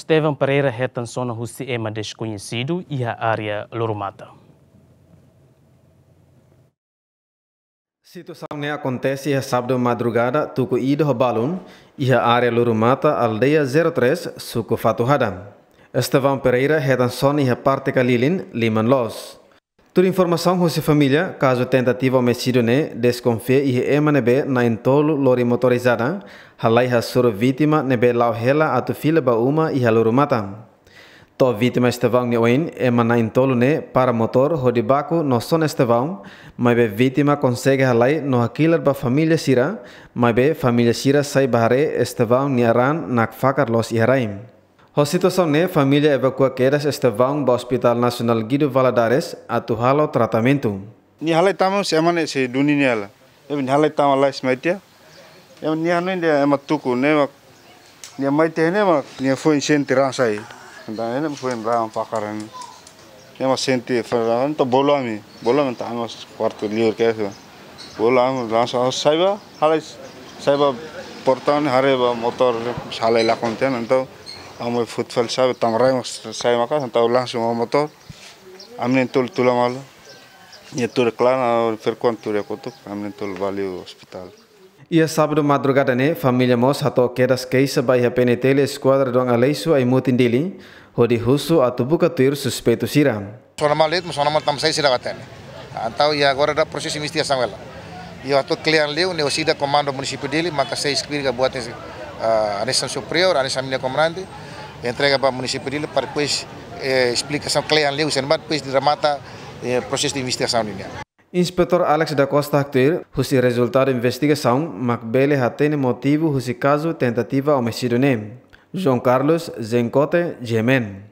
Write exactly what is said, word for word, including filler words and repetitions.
Estevão Pereira hetan sona husi ema deskoñesidu iha área Lurumata. Situasaun ne'e akontese iha sábadu madrugada, tuku ida ho balun, iha área Lurumata, aldeia zero três, suku Fatuhada. Estevão Pereira hetan sona iha parte kalilin, liman loos. Tuir informasaun husi família, kazu tentativa omisídiu ne'e deskonfia iha ema ne'ebé na'in-tolu lori motorizada halai hasoru vítima ne'ebé la'o hela atu fila ba uma iha Lurumata. To'o vítima Estevão nia oin, ema na'in-tolu ne'e para motór hodi baku no sona Estevão, maibé vítima konsege halai no hakilar ba família sira, maibé família sira sai bá haree Estevão nia raan nakfakar loos iha rai. Ho situasaun ne'e, família evakua kedas Estevão ba Hospital Nasionál Guido Valadares atu halo tratamentu. Nia halai tama se ema ne'e sei duni nia la. Nia halai tama lais mai tiha. Ema nia hanoin dehan ema tuku ne'e mak, nia mai tiha ne'e mak, nia foin sente raan sai. Entaun ne'e foin raan fakar ne'e. Nia mak sente fakar, entaun bolu ami. Bolu ami, entaun ami kuartu liur kedas. Bolu ami langsung sai bá, halai sai bá portaun haree bá motór halai lakon tiha, entaun ami fut fali sai bá tama rai mak sai maka'as, entaun langsung ho motór. Ami na'in-tolu tula malu. Nia tuur iha klaan, perkuan tuur iha kotuk, ami na'in-tolu bá liu ospitál. Iha sábadu madrugada ne'e, família mós hato'o kedas keixa ba iha P N T L Eskuadra Dom Aleixo Aimutin Dili, hodi husu atu buka tuir suspeitu sira. Sona malu de'it, mas sona malu tanba saida sira la hatene. Entaun iha agora daudaun prosesu investigasaun hela. Iha atu klean liu, ne'e orsida komandu munisípiu Dili, maka sei esplika buat ne'e, ah, hanesan superiór, hanesan ami-nia komandante, entrega ba munisípiu Dili para depois, eh, esplikasaun klean liu, sendo depois de remata, eh, prosesu de investigasaun nian. Inspetór Alex da Costa haktuir, husi rezultadu investigasaun mak bele hatene motivu husi kazu tentativa omisídiu ne'e. João Carlos, Zencote, G M N.